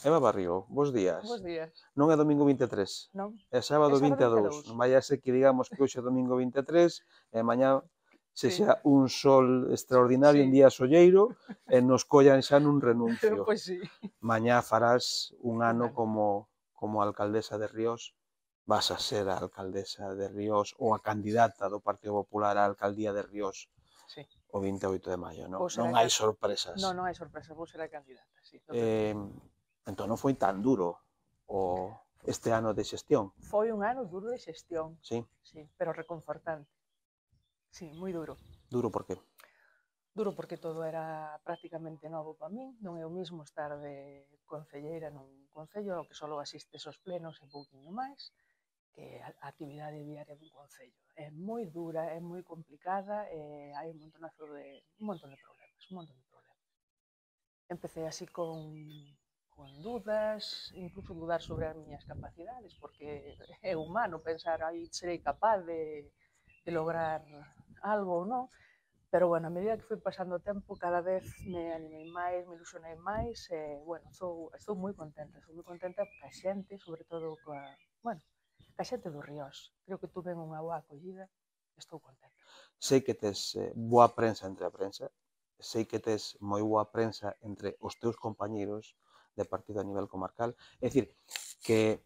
Eva Barrio, bos días. Bos días. Non é domingo 23, Non? é É sábado sábado 22. 22. Non vai a ser que digamos que hoxe é domingo 23 e mañá Sí. sexa un sol extraordinario, un Sí. día solleiro e nos collan xa nun renuncio. Pois sí. Mañá farás un ano ano. como alcaldesa de Ríos, vas a ser a alcaldesa de Ríos ou a candidata do Partido Popular á alcaldía de Ríos Sí. o 28 de maio, non? Vou ser Non a hai sorpresas. Non hai sorpresa, vou ser a candidata, sí, non te preocupes. Entón non foi tan duro este ano de xestión, Foi un ano duro de xestión, sí? sí, pero reconfortante. Sí, moi duro. Duro por qué? Duro porque todo era prácticamente novo para min, non é o mismo estar de concelleira nun concello ao que só asistes aos plenos e pouquiño máis, que a actividade diaria dun concello. É moi dura, é moi complicada e hai un montonazo de problemas, un montón de problemas. Empecé así con dudas, incluso dudar sobre as miñas capacidades, porque é humano pensar, aí serei capaz de lograr algo ou non, pero bueno, a medida que foi pasando o tempo, cada vez me animei máis, me ilusionei máis, e bueno, estou moi contenta ca xente, sobre todo ca xente do Ríos. Creo que tuve unha boa acollida, estou contenta. Sei que tes boa prensa entre a prensa, sei que tes moi boa prensa entre os teus compañeiros de partido a nivel comarcal, é dicir, que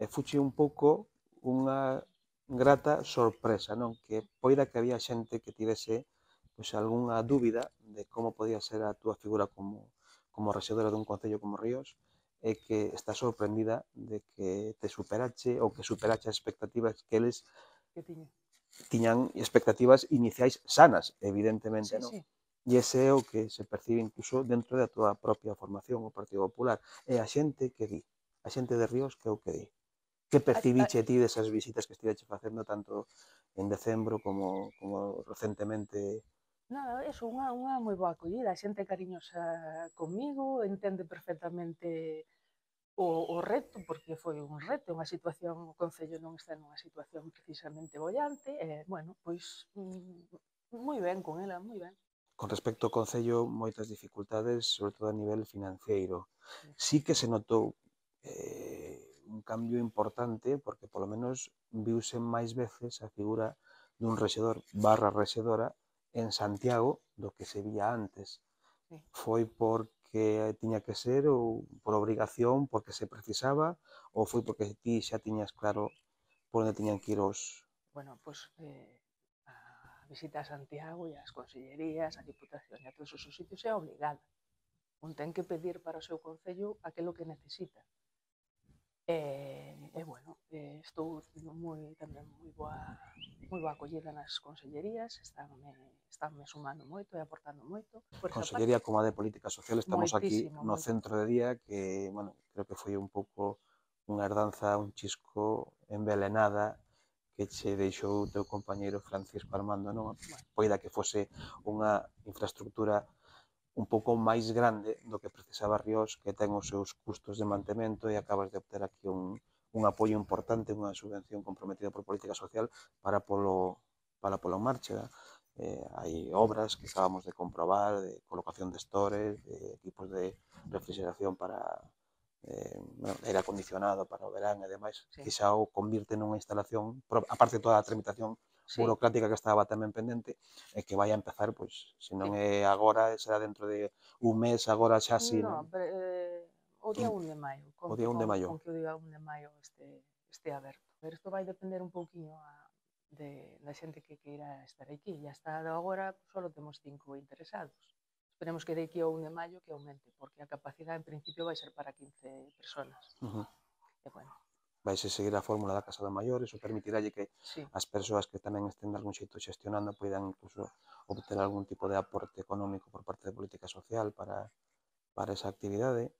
fuche un pouco unha grata sorpresa, non? Que poida que había xente que tivese pois algunha dúbida de como podía ser a túa figura como rexedora dun concello como Ríos e que está sorprendida de que te superache ou que superache as expectativas que eles Que tiña. tiñan expectativas iniciais sanas, evidentemente, Sí, non? sí. E ese é o que se percibe incluso dentro da túa propia formación, o Partido Popular. É a xente que di, a xente de Ríos que é o que di. Que percibiche ti desas visitas que estiveche facendo tanto en decembro como recentemente? Nada, eso, unha moi boa acollida, a xente cariñosa comigo, entende perfectamente o reto, porque foi un reto, unha situación, o Concello non está nunha situación precisamente bollante, e, bueno, pois, moi ben con ela, moi ben. Con respecto ao Concello, moitas dificultades, sobre todo a nivel financeiro. Sí. Sí que se notou un cambio importante, porque polo menos viuse máis veces a figura dun rexedor barra rexedora en Santiago do que se vía antes. Sí. Foi porque tiña que ser ou por obrigación, porque se precisaba, ou foi porque ti xa tiñas claro por onde tiñan que ir os... Bueno, pois, a visita a Santiago e as consellerías, a Diputación e a todos os sitios é obligada. Un ten que pedir para o seu Concello aquilo que necesita. Bueno, estou tamén moi boa acollida nas consellerías, estánme sumando moito e aportando moito. Por esa Consellería como a de Política Social, estamos aquí moitísimo, no centro de día, que, bueno, creo que foi un pouco unha herdanza, un chisco envelenada que che deixou o teu compañeiro Francisco Armando, non? Poida que fose unha infraestructura un pouco máis grande do que precisaba Ríos, que ten os seus custos de mantemento e acabas de obter aquí un apoio importante, unha subvención comprometida por Política Social para polo marcha. Hai obras que acabamos de comprobar, de colocación de stores, de equipos de refrigeración para aire acondicionado para o verán e demais, sí, que xa o convirte nunha instalación, aparte de toda a tramitación sí, burocrática que estaba tamén pendente, e que vai a empezar, pois, se non sí. é agora, será dentro de un mes, agora xa sí, No, non? pero, o día 1 de maio, O día 1 de maio. con que o día 1 de maio este aberto. Pero isto vai depender un pouquiño da xente que queira estar aquí. E hasta agora só temos 5 interesados. Esperemos que de aquí ao 1 de maio que aumente, porque a capacidade en principio vai ser para 15 personas. E bueno. Vaise seguir a fórmula da Casa do Maior, iso permitiralle que Sí. as persoas que tamén estén de algún xeito xestionando poidan incluso obter algún tipo de aporte económico por parte de Política Social para esa actividade.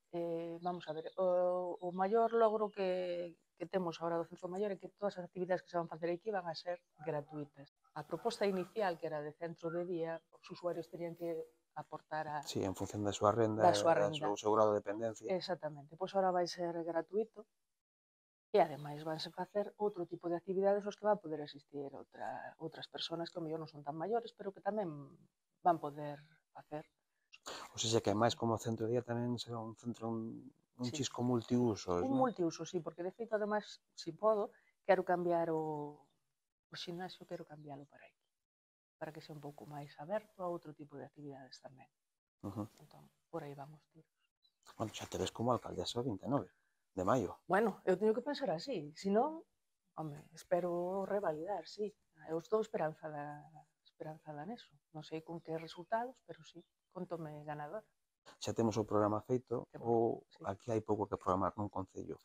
Vamos a ver, o maior logro que temos agora do Centro Maior é que todas as actividades que se van facer aquí van a ser gratuitas. A proposta inicial, que era de centro de día, os usuarios terían que aportar Sí, en función da súa renda da e súa do renda. seu grado de dependencia. Exactamente. Pois agora vai ser gratuito e ademais vanse facer outro tipo de actividades aos que van poder asistir outras persoas que ao mellor non son tan maiores, pero que tamén van poder facer. O ou seja, que máis como centro de día tamén será un centro, un Sí. chisco multiusos, Un non? multiuso, sí, porque de feito, ademais, se podo, quero cambiar o ximnasio, quero cambiálo para aquí, para que sea un pouco máis aberto a outro tipo de actividades tamén. Uh -huh. Entón, por aí vamos tiros. Bueno, xa te ves como alcaldesa o 29 de maio. Bueno, eu teño que pensar así, senón, home, espero revalidar, sí. Eu estou esperanzada neso. Non sei con que resultados, pero sí, contome ganadora. Xa temos o programa feito ou Sí. aquí hai pouco que programar nun concello?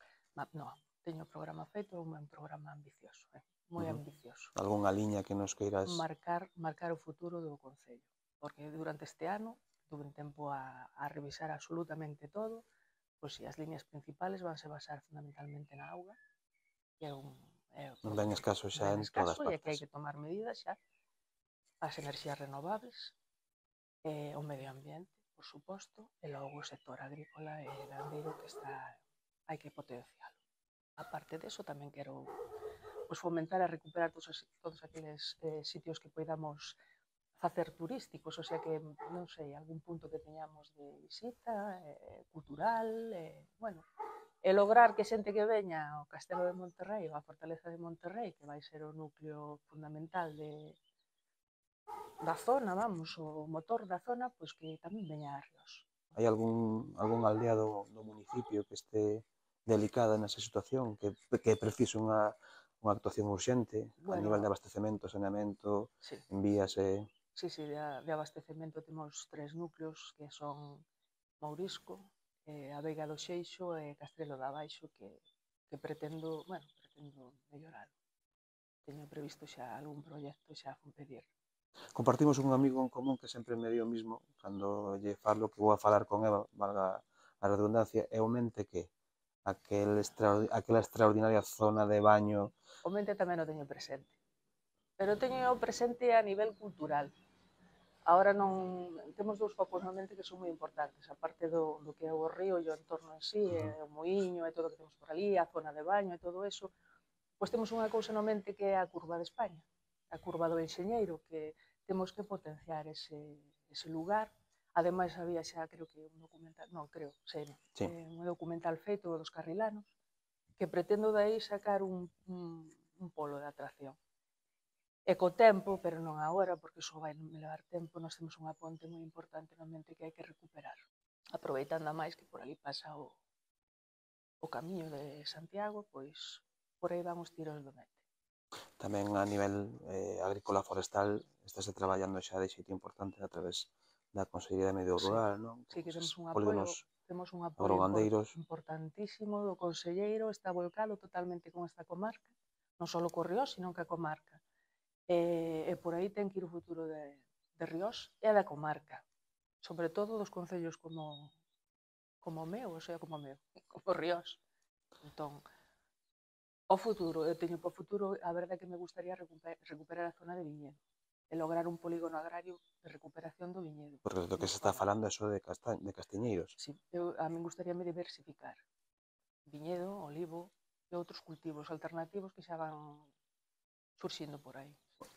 No, teño o programa feito, é un programa ambicioso, moi ambicioso. Algúnha liña que nos queiras... Marcar o futuro do Concello, porque durante este ano tuve un tempo a revisar absolutamente todo, pois si as liñas principales vanse basar fundamentalmente na auga, que é Non ven escaso xa en todas e que partes. hai que tomar medidas xa, as enerxías renovables, o medio ambiente, por suposto, e logo o sector agrícola e gandeiro que hai que potencialo. A parte deso, tamén quero fomentar e recuperar todos aqueles sitios que poidamos facer turísticos, o sea que, non sei, algún punto que teñamos de visita, cultural, bueno, e lograr que xente que veña ao Castelo de Monterrey ou a Fortaleza de Monterrey, que vai ser o núcleo fundamental da zona, vamos, o motor da zona, pois que tamén veña a Ríos. Hai algún aldea do municipio que este delicada nesa situación, que precisa unha actuación urxente a Bueno, nivel de abastecemento, saneamento, sí, envías e... sí, de abastecemento temos 3 núcleos que son Mourisco, a Veiga do Xeixo e Castrelo da Baixo que pretendo mellorar. Teño previsto xa algún proxecto xa a pedir. Compartimos un amigo en común que sempre me dio o mismo, cando lle falo que vou a falar con Eva, valga a redundancia, e o mente que aquela extraordinaria zona de baño... O mente tamén o teño presente, pero teño presente a nivel cultural. Ahora non temos dous focos na mente que son moi importantes, a parte do que é o río e o entorno en sí, o muiño e todo o que temos por ali, a zona de baño e todo eso, pois temos unha cousa na mente que é a curva de España, a curva do Enxeñeiro, que temos que potenciar ese lugar. Ademais, había xa, creo que un documental, non, creo, sei, Sí. un documental feito dos carrilanos, que pretendo de aí sacar un polo de atracción. E co tempo, pero non agora, porque iso vai levar tempo, nós temos unha ponte moi importante na mente que hai que recuperar. Aproveitando a máis que por ali pasa o camiño de Santiago, pois por aí van os tiros do mente. Tamén a nivel agrícola forestal estáse traballando xa de xeito importante a través da Consellería de Medio Rural, non? Sí, que temos un apoio agrogandeiros. importantísimo do conselleiro, está volcado totalmente con esta comarca, non só co Ríos, sino que a comarca. E por aí ten que ir o futuro de Ríos e da comarca, sobre todo dos concellos como o meu, o sea, como Ríos. Entón, o futuro, eu teño para o futuro, a verdade é que me gustaría recuperar a zona de Viñedo e lograr un polígono agrario de recuperación do viñedo. Porque do que se está falando é só de castiñeiros. Sí, a min gustaríame diversificar viñedo, olivo e outros cultivos alternativos que xa van surxindo por aí.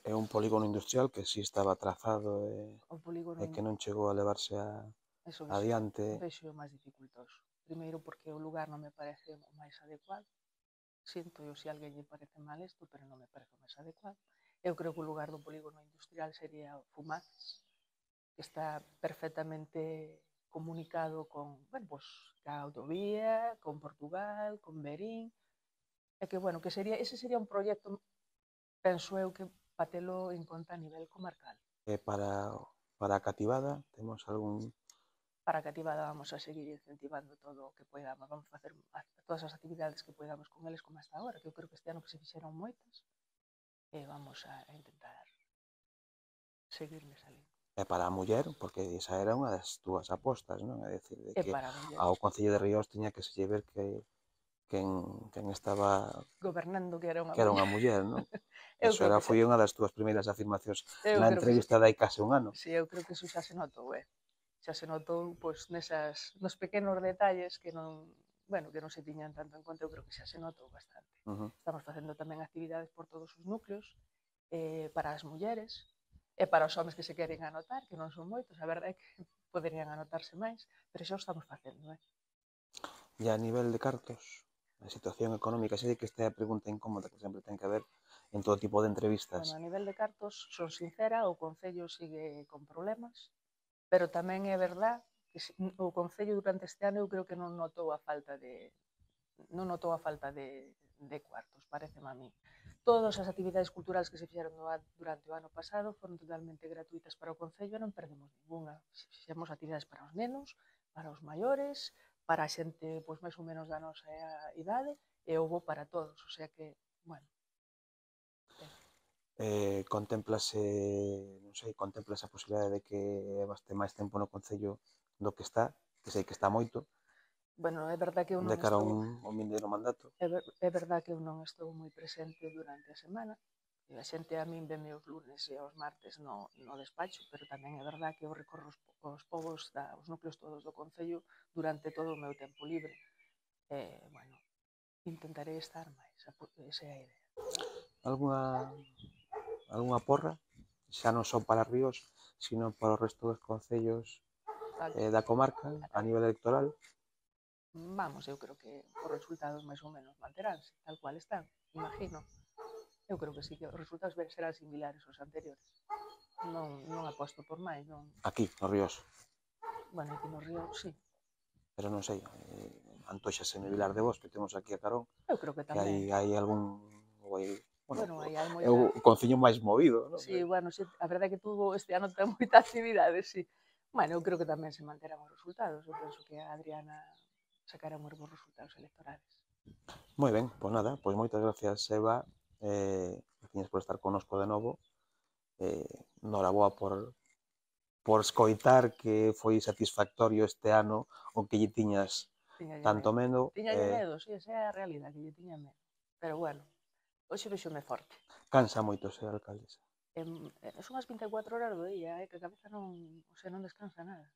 É un polígono industrial que si estaba trazado e que non chegou a levarse adiante. Vexo máis dificultoso. Primeiro porque o lugar non me parece o máis adecuado. Sinto eu se alguén lle parece mal isto, pero non me parece o máis adecuado. Eu creo que o lugar do polígono industrial sería o Fumaces, que está perfectamente comunicado con, bueno, pues, ca autovía, con Portugal, con Berín, e que, bueno, que ese sería un proxecto, penso eu, que patelo en conta a nivel comarcal. E para a cativada temos algún... Para a cativada vamos a seguir incentivando todo o que podamos, vamos a facer todas as actividades que podamos con eles como hasta agora, que eu creo que este ano que se fixeron moitas, e vamos a intentar seguir nesa liña. E para a muller, porque esa era unha das túas apostas, non? É dicir, de que ao Concello de Ríos tiña que se ver que quen estaba gobernando que era unha muller, non? Eso foi unha das túas primeiras afirmacións na entrevista de hai case un ano. Si, eu creo que eso xa se notou, xa se notou pois nos pequenos detalles que non, bueno, que non se tiñan tanto en conta, eu creo que xa se notou bastante. Estamos facendo tamén actividades por todos os núcleos, para as mulleres, e para os homes que se queren anotar, que non son moitos, a verdade é que poderían anotarse máis, pero xa o estamos facendo, E a nivel de cartos, a situación económica, sei que esta é a pregunta incómoda que sempre ten que haber en todo tipo de entrevistas. Bueno, a nivel de cartos, son sincera, o Concello sigue con problemas, pero tamén é verdad que o Concello durante este ano eu creo que non notou a falta de cuartos, pareceme a mí. Todas as actividades culturales que se fixeron durante o ano pasado foron totalmente gratuitas para o Concello e non perdemos ninguna. Fixemos actividades para os nenos, para os maiores, para a xente pois máis ou menos da nosa idade e houbo para todos, o sea que, bueno. Contémplase, non sei, contémplase a posibilidade de que baste máis tempo no Concello do que está, que sei que está moito, Bueno, é verdad que eu de non cara a estou un vindeiro mandato. é verdad que eu non estou moi presente durante a semana. E a xente a min veme os lunes e os martes no despacho, pero tamén é verdad que eu recorro os povos, os núcleos todos do Concello durante todo o meu tempo libre. Bueno, intentarei estar máis, esa é a idea. Algunha porra, xa non só para Ríos, sino para o resto dos concellos da comarca a nivel electoral? Vamos, eu creo que os resultados máis ou menos manteránse, tal cual están, imagino. Eu creo que sí, que os resultados serán similares aos anteriores. Non aposto por máis, non. Aquí, no Ríos. Bueno, aquí no Río, sí. Pero non sei, antóxaseme Vilar de Vos, que temos aquí a carón, Eu creo que tamén. que hai algún... Bueno, aí hai moita... É o concello máis movido, non? Sí, bueno, sí, a verdade é que este ano ten moita actividade, sí. Bueno, eu creo que tamén se manterán os resultados. Eu penso que a Adriana sacará uns bons resultados electorales. Moi ben, pois nada, pois moitas gracias, Eva. Gracias por estar connosco de novo. Noraboa por escoitar que foi satisfactorio este ano o que lle tiñas tanto medo. Tiñalle medo, sí, esa é a realidade, que lle tiña medo. Pero bueno, hoxe vexome forte. Cansa moito ser alcaldesa. Son as 24 horas do día, que a cabeza non descansa nada.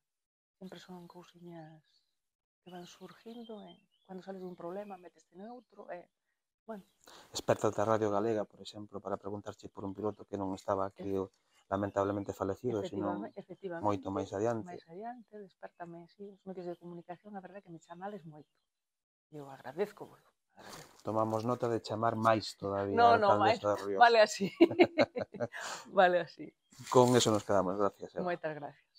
Sempre son cousiñas que van surgindo, cando sales dun problema meteste noutro, bueno. Experta da Radio Galega, por exemplo, para preguntarche por un piloto que non estaba aquí lamentablemente falecido, senón moito máis adiante. Máis adiante, despertame, sí, os medios de comunicación, a verdade que me chamades moito. Eu agradezco, bueno. Tomamos nota de chamar máis todavía a alcaldesa de Ríos. Vale así. Vale así. Con eso nos quedamos, gracias. Moitas gracias.